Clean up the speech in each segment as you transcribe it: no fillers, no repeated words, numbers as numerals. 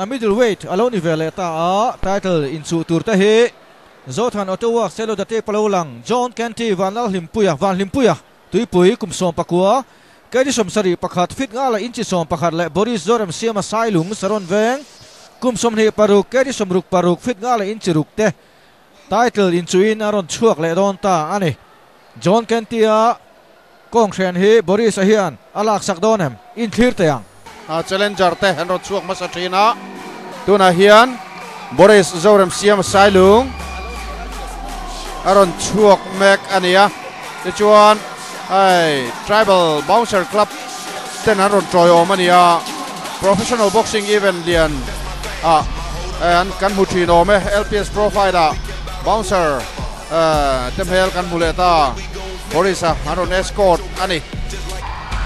Middleweight a lo ni ve leh ta a, title inchuh tur te hi Zothan Auto Works Selo Date palo lang John Kenty Vanlalhlimpuia Vanhlimpuia Tuipui kum 19 kg 71 feet nga leh inchi 11 leh Boris Zoremsiama Sailung Saron Veng kum 26 kg 66 feet nga leh inchi 6 te title inchuhin a rawn chhuak leh dawn ta a ni. John Kenty-a kawng hren hi Boris-a hian a laksak dawn em? Inthlir teh ang. Challenger te an rawn chhuak hmasa thin a, tunah hian Boris Zoremsiama Sailung a rawn chhuak mek a ni a, tichuan hei Tribal Bouncer Club ten an rawn tawiawm a ni a, Professional Boxing event lian ah an kan hmu thin awm e, LPS Pro Fight ah Bouncer te hmel kan hmu leh ta, Boris a an rawn escort a ni.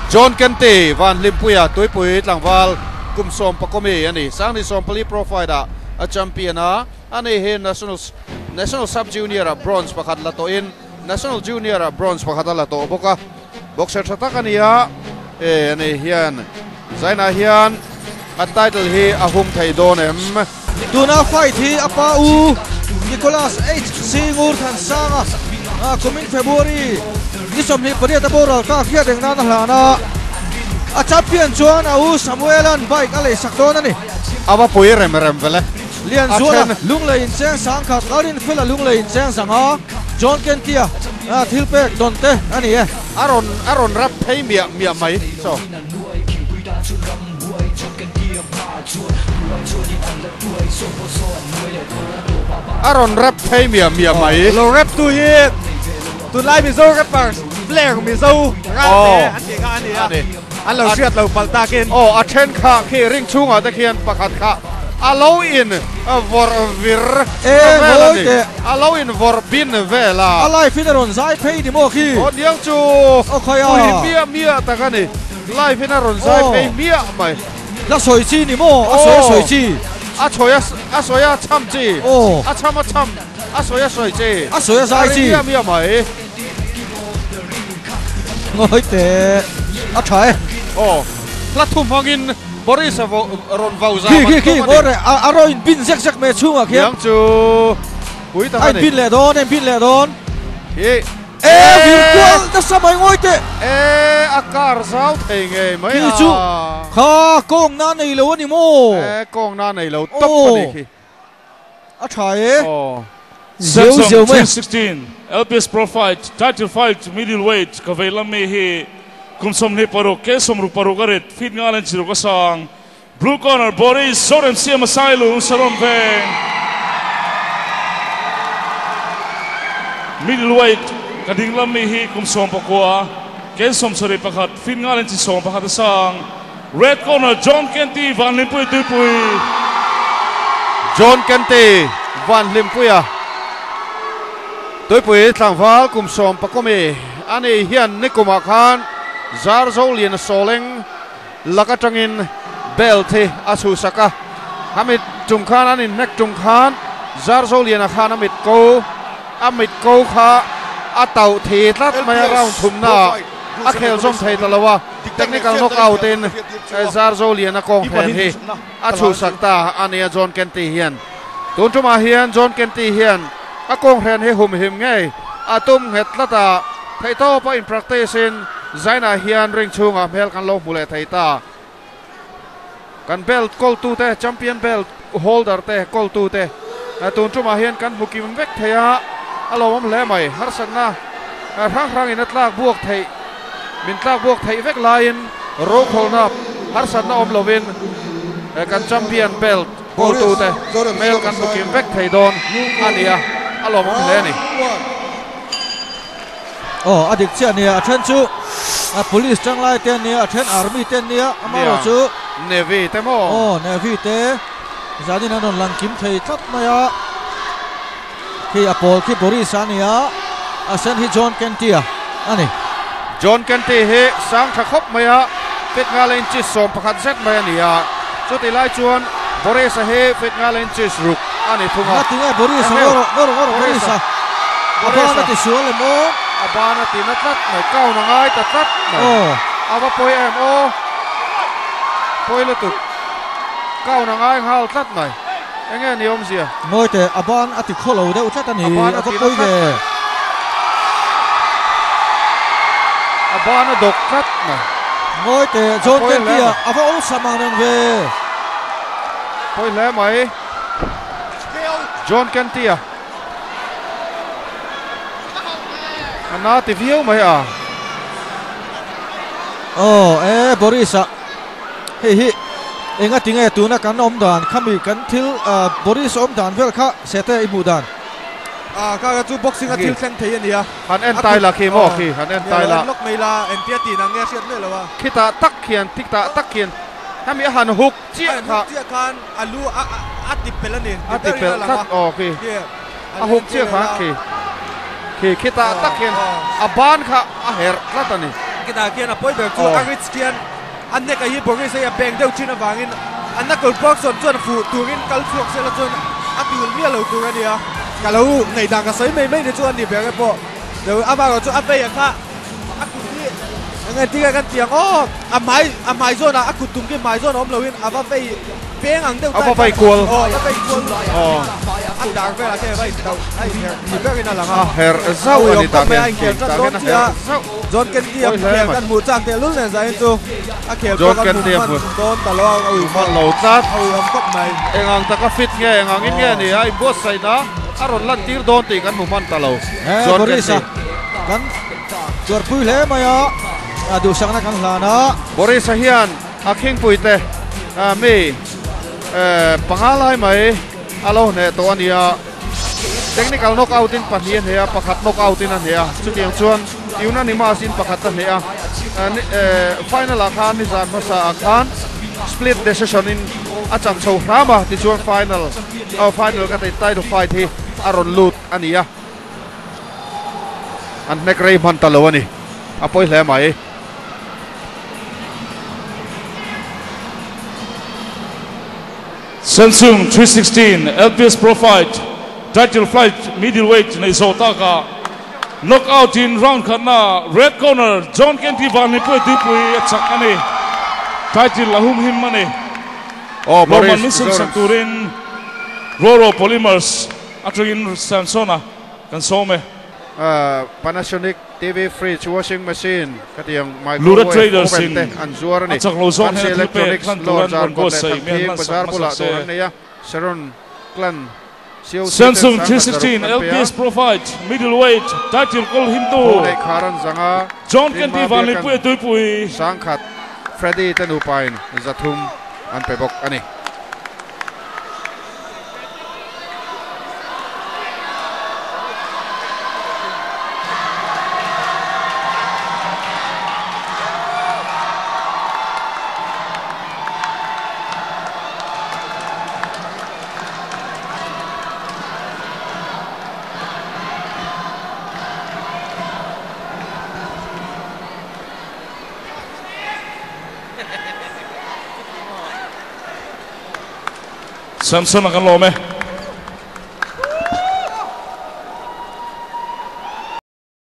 John Kenty Van Hlimpuia Tuipui tlangval kum 14 mi a ni, Sangni 14 Pro Fight ah a champion a, ani hi National National Sub Junior ah bronze pakhat la tawhin National Junior ah bronze pakhat a la tawh bawk a, boxer tha tak a ni a, e ani hian Zainah hian a title hi a hum thei dawn em? Tuna fight hi a pa u Nicholas H Singur Thansanga kumin February ni 28 a boral kak hiat eng nan a hlan a, a champion chuan a u Samuelan bike a leisak dawn a ni. A va pui rem rem vele. Lianzuala lunglei incheng sangkhat Lalrinfela lunglei incheng zanga John Kentia thil pek dawn te a ni e. A rawn a rawn rap phei miah miah mai chaw. A rawn rap phei miah miah mai. Lo rap tu hi tunlai Mizo rappers Blair Mizo Ralte an tih kha a ni a, an lo hriat lo palh takin. Aw a then kha khi ring chhungah te khian pakhat kha a lo in vawrh vir vel a ni, a lo in vawrh bin vel a. A live in a rawn zai phei ni maw khi? Aw niang chu pui miah miah tak a ni, live in a rawn zai phei miah mai. La sawi chi ni maw? A sawi a sawi chi. A sawi a sawi a chham chi. A chham a chham a sawi a sawi chi. A sawi a zai chi. A ri miah miah mai. Ngawi teh a tha e. Aw hla thu hmangin Boris a rawn vau zam an tum a ni. A rawn inbin zek zek mai a chhungah khian. Niang chu pui tak a ni. A inbin leh dawn, a inbin leh dawn. Hi. E vir kual nasa mai ngawi teh. E a kar zau thei ngei mai a. Khi chu kha kawng na nei lo a ni maw? E kawng na nei lo tawp a ni khi. A tha e. Aw. Zeu zeu mai. 2016 LPS Pro Fight Title Fight Middleweight ka vei lam mi hi kum 26 ke 66 a rit feet nga len chiruk a sang Blue Corner Boris Zoremsiama Sailung Saron Veng Middleweight ka ding lam mi hi kum 19 ke 71 feet nga len chi 11 a sang Red Corner John Kenty Vanhlimpui Tuipui. John Kenty Vanhlimpuia Tuipui tlangval kum 14 mi a ni hian nikumah khan Zarzo Lian Sawleng lak atangin belt hi a chhuhsak a, a mit tum khan an inhnek tum khan Zarzo Liana khan a mit ko a mit ko kha a tauh thi tlat mai a round thumnaah a khel zawm thei ta lo a. Technical knockout in Zarzo Liana kawng hren hi a chhuhsak ta a ni a John Kenty hian. Tun tumah hian John Kenty hian a kawng hren hi humhim ngei a tum nghet tlat a, theihtawp a in practice in Zainah hian ring chhungah hmel kan lo hmu leh thei ta. Kan belt kawltu te, champion belt holder te kawltu te tun tumah hian kan hmu kim vek thei a, a lawmawm hle mai. Harsatna hrang hrangin a tlak buak theih, min tlak buak theih vek laiin rokhawlna harsatna awm lovin kan champion belt kawltu te hmel kan hmu kim vek thei dawn a ni a, a lawmawm hle a ni. Aw a dik chiah a nia, a then chu a police tanglai te an nia, a then army te an nia, amaherawh chu Navy te maw? Aw Navy te zanin an rawn lang kim thei tlat mai a, khi a pawl khi Boris a nia, a sen hi John Kenty a a ni. John Kenty hi sang tha khawp mai a, feet nga leh inches 11 zet mai a ni a, chutih lai chuan Boris a hi feet nga leh inches 6 a ni thung a. Ngatinge Boris a ngawr ngawr ngawr Boris a. A ban a ti sual em aw? A ban a ti na tlat mai, count a ngai ta tlat mai. A va pawi em aw? Pawi lutuk. Count a ngai nghal tlat mai. Enge ni awmzia? Ngawi teh, a ban a ti khaw lo deuh tlat a ni. A ban a A va ti na pawi tlat ve. mai. A ban a dawk tlat mai. Ngawi teh, A John pawi hle Kenty-a mai. a va awlsam ang reng ve. Pawi hle mai. John Kenty-a a na ti viau mai a. Aw e Boris-a hei hi enga tinge tuna kan awm dan khami kan thil Boris awm dan vel kha sete i hmuh dan. A kha kha chu boxing a thil thleng thei a nia. Han en tai la khi maw khi han en tai la. En lawk mai la entia tih nang nge a hriat miah lo a. Khitah tak khian tikah tak khian hemi a han huk chiah kha. A han huk chiah khan a lu a a ti pelh a ni. A ti pelh tlat aw khi. A huk chiah khan khi khi khitah tak hian a ban kha a herh tlat a ni. Khitah khian a pawi ber chu a rich khian a nek a hi Boris hei a beng deuh thin avangin a knuckle Bergson chuan fuh turin kal chhuak sela chuan a ti ulh miah lo tur a nia. Ka lo ngaihdan ka sawi mai mai ni chu a ni ber e pawh amaherawh chu a vei a kha a kut hi eng engtin nge kan ti ang aw a hmai a hmai zawnah a kut tum khi hmai zawn a awm loin a va vei peng ang deuh A va vei kual aw a va vei kual a dar velah khian a va intauh a inherh ni berin a lang a a herh zauh a ni tah hian khi tah tah hian a herh zauh John Kenty a khel kan hmuh chak teh lul nen zahin chu a khel John pawh kan Kenty a hmu hmu hman dawn ta lo a ui hman lo tlat a ui awm khawp mai eng ang taka fit nge eng ang in nge ni a inbuatsaihna a rawn lan tir dawn tih kan hmu hman ta lo John Boris-a Kenty kan tuarpui hle mai a a duhsakna kan hlan a. Boris-a hian a khingpui te mi panga lai mai a lo hneh tawh a ni a, technical knockout in pahnih a hneh a, pakhat knockout in a hneh a, chutiang chuan unanimous in pakhat a hneh a, final ah khan nizan hmasa ah khan split decision in a chak chho hram a, tichuan final final ka title fight hi a rawn lut a ni a. An hnek rei hman ta lo a ni. A pawi hle mai. Samsung 316 LPS Pro Fight Title Flight Middleweight nei zawh takah Knockout in round khatna Red Corner John Kenty Vanlipui tuipui a chak a ni. Title a humhim a ni. Aw Lawmman Boris min sem sak Zoram's. turin Roro Polymers Atangin Samsona kan sawm e. Panasonic TV fridge washing machine khatiang Lura microwave Traders oven in te an zuar a ni. a chak lo zawk Fancy hnen a thil pek Electronics hlan tur lawr an zar rawn kawt leh buatsaih mi an Thangthing hlan sak bazar hmasa bulah se. dawr an nei a, Sharon Clan COC ten Samsung sangkhat 316 zaruk an pe a. LPS Pro Fight Middleweight Title kawl himtu Thu neih khar an zang a, John Tin Kenty Mabia Vanlipui kan a tuipui. Sangkhat Freddy te nupain zathum an pe bawk a ni. Samson a kan lawm e.